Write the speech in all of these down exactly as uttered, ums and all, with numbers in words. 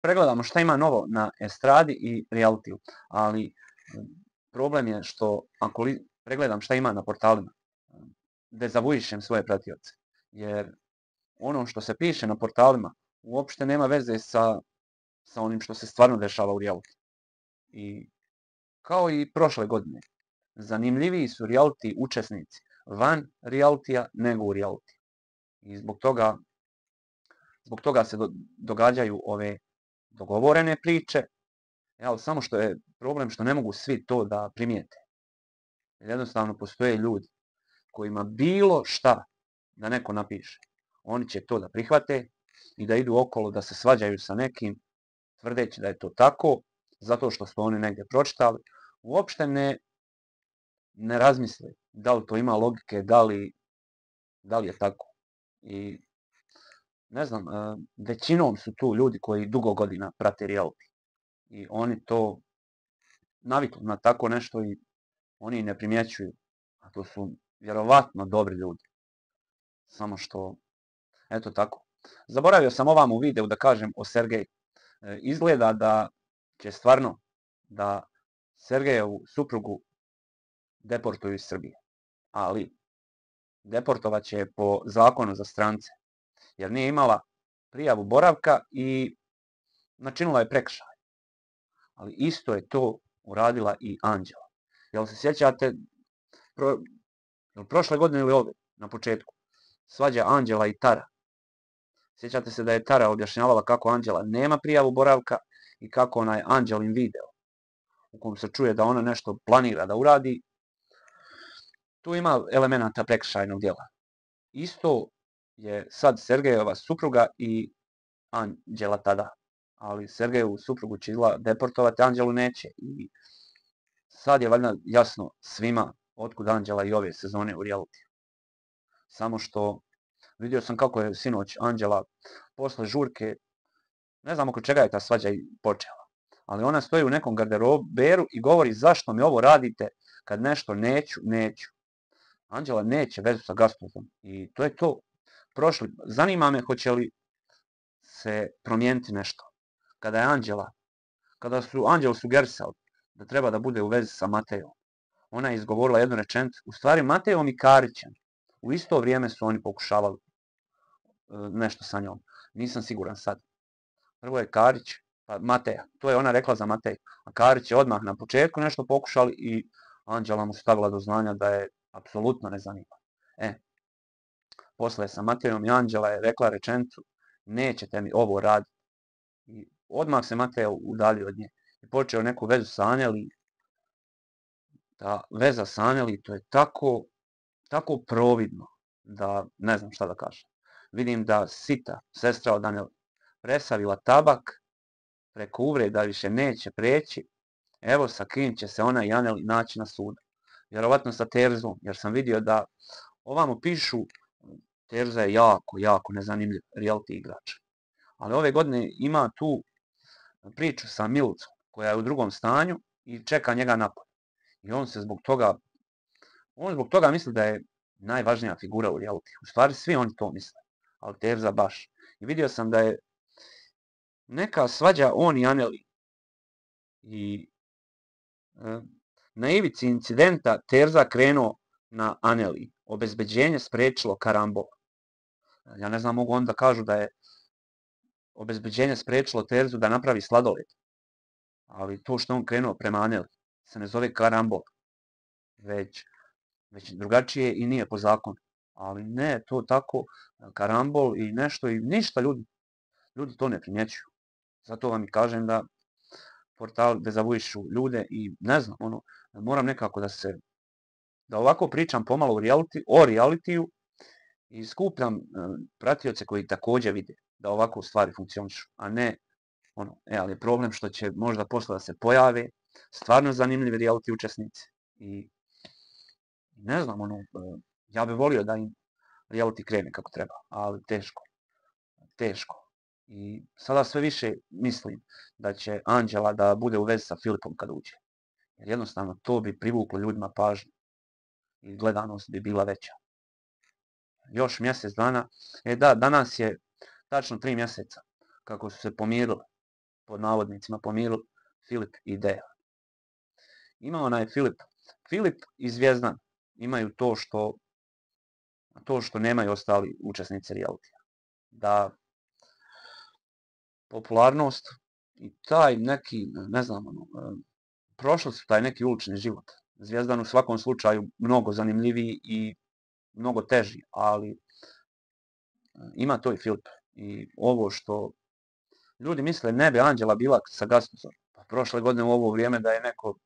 pregledamo šta ima novo na estradi i realitiju, ali problem je što ako li pregledam šta ima na portalima, dezavuišem svoje pratioce, jer ono što se piše na portalima uopšte nema veze sa, sa onim što se stvarno dešava u realitiju. I kao i prošle godine, zanimljiviji su reality učesnici van realitija nego u realitiju. I zbog toga, zbog toga se do, događaju ove dogovorene priče, ali samo što je problem što ne mogu svi to da primijete. Jednostavno postoje ljudi kojima bilo šta da neko napiše, oni će to da prihvate i da idu okolo da se svađaju sa nekim, tvrdeći da je to tako, zato što su oni negdje pročitali, uopšte ne, ne razmisle da li to ima logike, da li, da li je tako. I ne znam, većinom su tu ljudi koji dugo godina prate reality. I oni to navikli na tako nešto i oni ne primjećuju. A to su vjerovatno dobri ljudi. Samo što, eto tako. Zaboravio sam ovam u videu da kažem o Sergeju. E, izgleda da će stvarno da Sergejevu suprugu deportuju iz Srbije. Ali deportovat će je po zakonu za strance. Jer nije imala prijavu boravka i načinila je prekršaj. Ali isto je to uradila i Anđela. Jel se sjećate pro, jel prošle godine ili ove, na početku, svađa Anđela i Tara. Sjećate se da je Tara objašnjavala kako Anđela nema prijavu boravka i kako onaj Anđelin video u kom se čuje da ona nešto planira da uradi, tu ima elemenata prekršajnog djela. Isto je sad Sergejeva supruga i Anđela tada. Ali Sergejevu suprugu će deportovati, Anđelu neće. I sad je valjda jasno svima otkud Anđela i ove sezone u realitiju. Samo što vidio sam kako je sinoć Anđela posle žurke, ne znam oko čega je ta svađa i počela, ali ona stoji u nekom garderoberu i govori zašto mi ovo radite kad nešto neću, neću. Anđela neće vezu sa Gaspardom i to je to. Prošli, zanima me hoće li se promijeniti nešto. Kada je Anđela, kada su Anđelu sugerisali da treba da bude u vezi sa Matejom, ona je izgovorila jednu rečenicu, u stvari Matejom i Karićem. U isto vrijeme su oni pokušavali nešto sa njom. Nisam siguran sad. Prvo je Karić, pa Mateja. To je ona rekla za Mateju. A Karić je odmah na početku nešto pokušali i Anđela mu stavila do znanja da je apsolutno ne zanima. E, posle sa Matejom i Anđela je rekla rečenicu, nećete mi ovo raditi. I odmah se Mateja udalio od nje. I počeo neku vezu sa Aneli. Ta veza sa Aneli, to je tako, tako providno da ne znam šta da kažem. Vidim da Sita, sestra od Aneli, presavila tabak, preko uvreda više neće preći, evo sa kim će se ona i Aneli naći na sudu. Vjerovatno sa Terzom, jer sam vidio da ovamo pišu, Terza je jako, jako nezanimljiv reality igrač. Ali ove godine ima tu priču sa Milicom, koja je u drugom stanju i čeka njega napad. I on se zbog toga, on zbog toga misli da je najvažnija figura u reality. U stvari svi oni to misle, ali Terza baš. I vidio sam da je neka svađa on i Aneli. I e, na ivici incidenta Terza krenuo na Aneli. Obezbeđenje sprečilo karambol. Ja ne znam, mogu onda kažu da je obezbeđenje sprečilo Terzu da napravi sladoled. Ali to što on krenuo prema Aneli se ne zove karambol. Već, već drugačije i nije po zakonu. Ali ne, to tako, karambol i nešto i ništa ljudi. Ljudi to ne primjećuju. Zato vam i kažem da portal dezavuišu ljude i ne znam, ono, moram nekako da se, da ovako pričam pomalo o, reality, o realitiju i skupljam uh, pratioce koji također vide da ovako stvari funkcionišu, a ne, ono, e, ali je problem što će možda posle da se pojave stvarno zanimljivi reality učesnici i ne znam, ono, uh, ja bih volio da im reality krene kako treba, ali teško, teško. I sada sve više mislim da će Anđela da bude u vezi sa Filipom kad uđe. Jer jednostavno to bi privuklo ljudima pažnju i gledanost bi bila veća. Još mjesec dana, e da, danas je tačno tri mjeseca kako su se pomirili. pod navodnicima pomirili, Filip i Deja. Ima onaj Filip. Filip i Zvjezdan imaju to što to što nemaju ostali učesnici realitija. Da popularnost i taj neki, ne znam, ono, prošli su taj neki ulični život. Zvjezdan u svakom slučaju mnogo zanimljiviji i mnogo teži, ali ima to i Filip. I ovo što ljudi misle ne bi Anđela bila sa Gastusom. Pa prošle godine u ovo vrijeme da je neko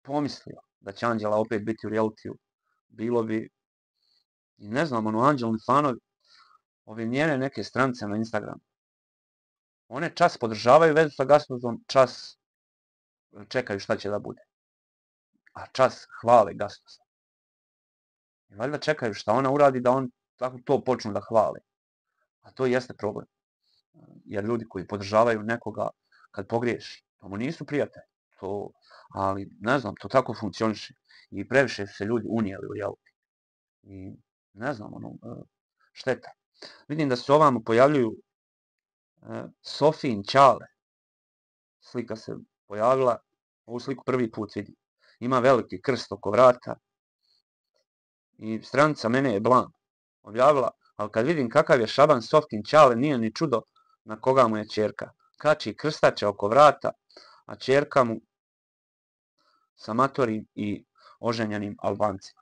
pomislio da će Anđela opet biti u realitiju, bilo bi, ne znam, ono, Anđelni fanovi, ove njene neke stranice na Instagramu, one čas podržavaju vezu sa Gastusom, čas čekaju šta će da bude. A čas hvale Gastusa. I valjda čekaju šta ona uradi da on tako to počnu da hvale. A to jeste problem. Jer ljudi koji podržavaju nekoga kad pogriješi, to mu nisu prijatelji. To, ali ne znam, to tako funkcioniše. I previše su se ljudi unijeli u reality. I ne znam, ono, šteta. Vidim da se ovamo pojavljuju Sofijin Ćale. Slika se pojavila, ovu sliku prvi put vidim. Ima veliki krst oko vrata. I stranica Mene je blan objavila, ali kad vidim kakav je šaban Sofkin Ćale, nije ni čudo na koga mu je ćerka. Kači krstače oko vrata, a ćerka mu sa matorim i oženjenim Albancima.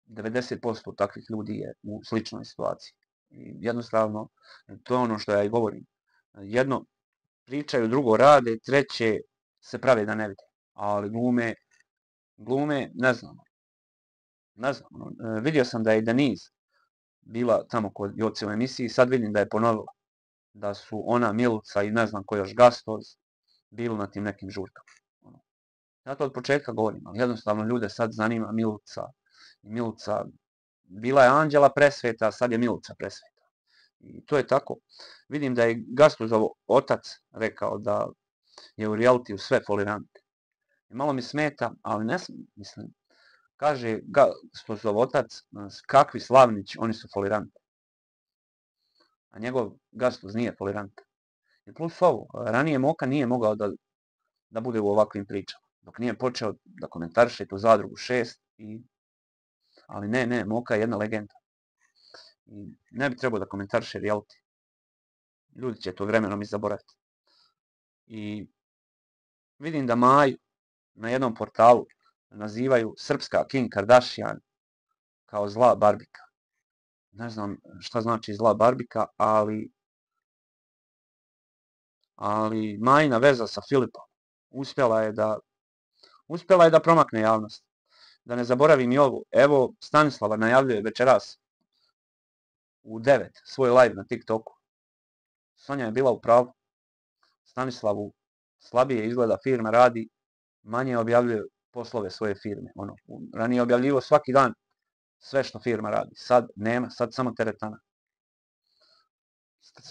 devedeset posto takvih ljudi je u sličnoj situaciji. I jednostavno, to je ono što ja i govorim. Jedno pričaju, drugo rade, treće se prave da ne vide. Ali glume, glume, ne znam. Ne znam, vidio sam da je Denise bila tamo kod Joce u emisiji, sad vidim da je ponovila. Da su ona, Milica i ne znam ko još Gastoz bili na tim nekim žurkama. Ja to od početka govorim, ali jednostavno ljude sad zanima Milica. Milica, bila je Anđela presveta, sad je Milica presveta. I to je tako. Vidim da je Gastozov otac rekao da je u realitiju sve folirante. I malo mi smeta, ali ne mislim. Kaže Gastozov otac, kakvi Slavnić, oni su foliranti. A njegov Gastoz nije folirant. I plus ovo, ranije Moka nije mogao da, da bude u ovakvim pričama. Dok nije počeo da komentariše tu Zadrugu šest. I... Ali ne, ne, Moka je jedna legenda. I ne bi trebao da komentariše reality. Ljudi će to vremenom i zaboraviti. I vidim da Maju na jednom portalu nazivaju srpska Kim Kardashian kao zla barbika. Ne znam šta znači zla barbika, ali ali Majina veza sa Filipom uspjela je da uspjela je da promakne javnost. Da ne zaboravim i ovo. Evo, Stanislava najavljuje večeras u devet svoj live na TikToku. Sonja je bila u pravu. Stanislavu slabije izgleda firma radi, manje objavljuje poslove svoje firme. Ono, ranije objavljivo svaki dan sve što firma radi. Sad nema, sad samo teretana.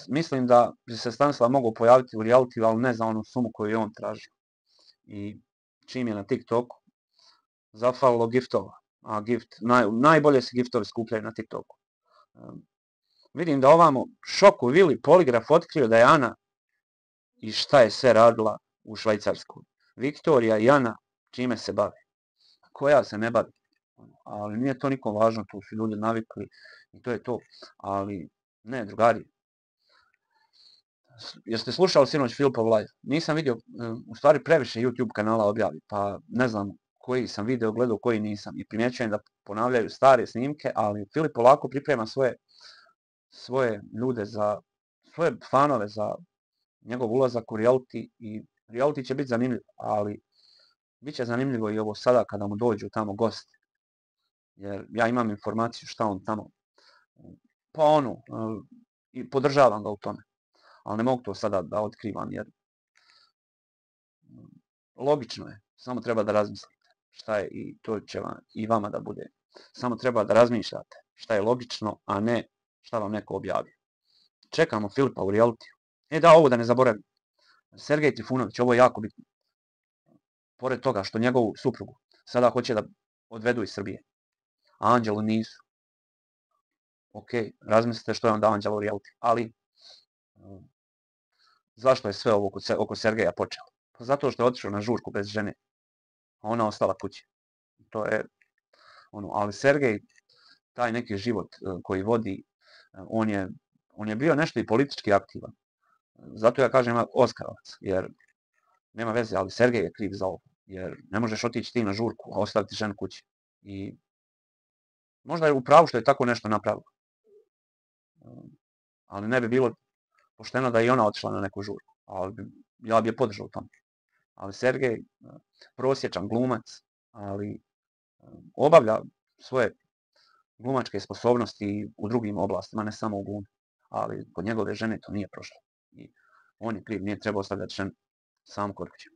Mislim da bi se Stanislav mogao pojaviti u realitiju, ali ne za onu sumu koju je on tražio. I čim je na TikToku, zafalilo giftova. A gift, naj, najbolje se giftovi skupljaju na TikToku. Um, vidim da ovamo Šoku Vili poligraf otkrio da je Ana i šta je sve radila u Švajcarskoj. Viktorija i Ana čime se bave. Koja se ne bavi. Ali nije to nikom važno, tu su ljudi navikli i to je to. Ali ne, drugari. Jeste slušali sinoć Filipov live? Nisam vidio, u stvari previše YouTube kanala objavi, pa ne znam koji sam video gledao, koji nisam. I primjećujem da ponavljaju stare snimke, ali Filip polako priprema svoje, svoje ljude, za svoje fanove za njegov ulazak u reality. I reality će biti zanimljiv, ali bit će zanimljivo i ovo sada kada mu dođu tamo gosti. Jer ja imam informaciju šta on tamo, pa ono, i podržavam ga u tome. Ali ne mogu to sada da otkrivam, jer logično je, samo treba da razmislite šta je i to će vam, i vama da bude. Samo treba da razmišljate šta je logično, a ne šta vam neko objavi. Čekamo Filipa u realitiju. E da, ovo da ne zaboravim. Sergej Trifunović, ovo je jako bitno. Pored toga što njegovu suprugu sada hoće da odvedu iz Srbije, a Anđelu nisu. Ok, razmislite što je onda Anđela u realitiju. Ali Zašto je sve ovo oko, Se- oko Sergeja počelo? Pa zato što je otišao na žurku bez žene, a ona ostala kući. To je ono, ali Sergej, taj neki život e, koji vodi, e, on je, on je bio nešto i politički aktivan. Zato ja kažem Oskarovac, jer nema veze, ali Sergej je kriv za ovo. Jer ne možeš otići ti na žurku, a ostaviti ženu kući. I možda je u pravu što je tako nešto napravilo. Ali ne bi bilo pošteno da je i ona otišla na neku žurku. Ali bi, ja bi je podržao u tome. Ali Sergej, prosječan glumac, ali obavlja svoje glumačke sposobnosti u drugim oblastima, ne samo u glumi. Ali kod njegove žene to nije prošlo. I on je kriv, nije trebao ostavljati ženu sam kod kuće.